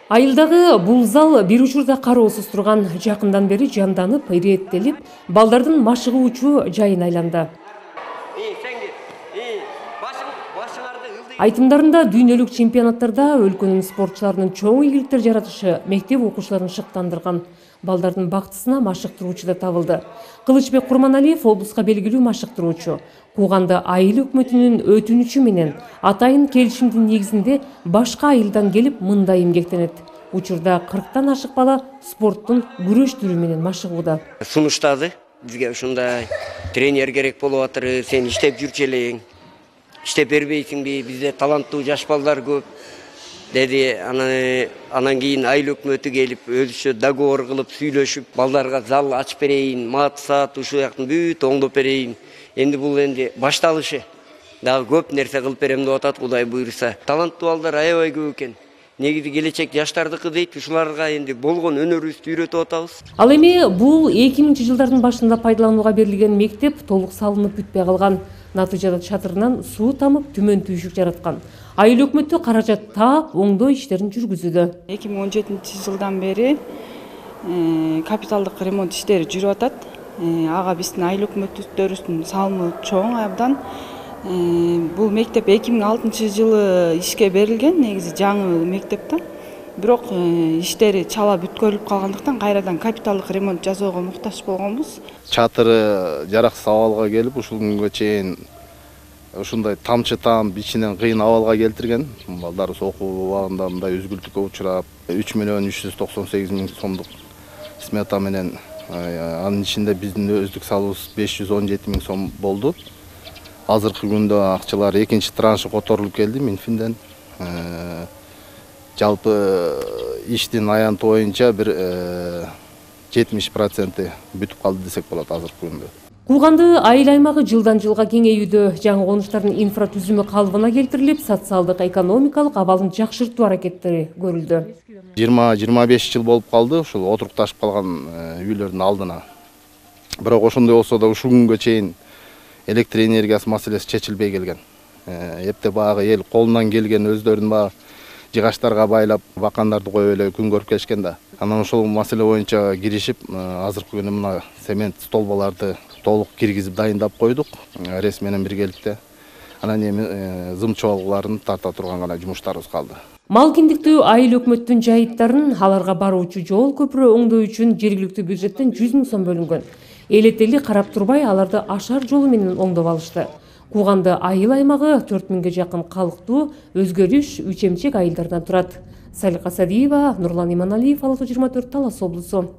Айылдагы бул зал бир учурда кароосуз турган, жакындан бери жанданып, ирээттелип, балдардын машыгуучу жайына айланды. Айтымдарында дүйнөлүк чемпионаттарда өлкөнүн спортчуларынын чоң ийгиликтер жаратышы мектеп окуучуларын шыктандырган. Балдардын бактысына машыктыруучу да табылды. Кылычбек Курманалиев облуска белгилүү машыктыруучу. Кууганды айыл өкмөтүнүн өтүнүчү менен атайын келишимдин негизинде башка айылдан келип мында эмгектенет. Учурда 40тан ашык бала спорттун күрөш түрү менен машыгууда. Сунуштады. Бизге ушундай тренер керек болуп атыр. Сен иштеп жүрчү элең. Иштеп бербейсиңби? Бизде таланттуу жаш балдар көп. Деди, анан кийин айыл өкмөтү келип, өзүчө договор кылып, сүйлөшүп, балдарга зал ачып берейин, мат саат ушул жактын бүт оңдоп берейин. Энди бул башталышы. Дагы көп нерсе кылып берем деп атат, Кудай буйруса. Таланттуу балдар аябай көп экен. Негизи келечек жаштардыкы дейт, ушуларга энди болгон өнөрүбүздү үйрөтүп атабыз. Ал эми бул 2000-жылдардын башында пайдаланууга берилген мектеп толук салынып бүтпөй калган. Натыйжада чатырынан суу тамып, түмөн түйшүк жараткан. Айыл өкмөтү каражат таап, оңдоо иштерин жүргүзүүдө. 2017-жылдан бери капиталдык ремонт иштери жүрүп атат. Ага биздин айыл өкмөттөрүбүздүн салымы чоң абдан. Бул мектеп 2006-жылы ишке берилген, негизи жаңы мектеп да. Бирок иштери чала бүткөрүлүп калгандыктан кайрадан капиталдык ремонт жасоого муктаж болгонбуз. Чатыры жараксыз абалга келип, ушул күнгө чейин ушундай тамчы таам ичинен кыйын абалга келтирген. Балдарыбыз окуу убагында мындай үзгүлтүккө учурап, 3.398.000 сомдук смета менен, анын ичинде биздин өздүк салыбыз 517.000 сом болду. Азыркы күндө акчалар экинчи траншы которулуп келди Минфинден. Жалпы иштин аянты боюнча бир 70% бүтүп калды десек болот азыркы күндө. Кууганды айыл аймагы жылдан жылга кеңеюдө, жаңы конуштардын инфратүзүмү калыбына келтирилип, социалдык экономикалык абалын жакшыртуу аракеттери көрүлдү. 20-25 жыл болуп калды ушул отурукташып калган үйлөрдүн алдына. Бирок ошондой болсо да ушул күнгө чейин электр энергиясы маселеси чечилбей келген. Эптеп багы эл колунан келген өздөрүнүн багы жыгачтарга байлап, бакандарды коюп эле күн көрүп келишкен да. Анан ошол маселе боюнча киришип, азыркы күнү мына цемент столбаларды толук киргизип дайындап койдук, РЭС менен биргеликте. Анан эми зым чоалгыларын тарта турган гана жумуштарыбыз калды. Мал киндиктүү айыл өкмөттүн жайыттарын аларга баруучу жол көпүрө оңдоо үчүн жергиликтүү бюджеттен 100.000 сом бөлүнгөн. Элетели карап турбай аларды ашар жолу менен оңдоп алышты. Кууганды айыл аймагы 4000ге жакын калктуу, өзгөрүш, үч эмчек айылдардан турат. Салика Садиева, Нурлан Иманалиев, Ала 24, Талас облусу.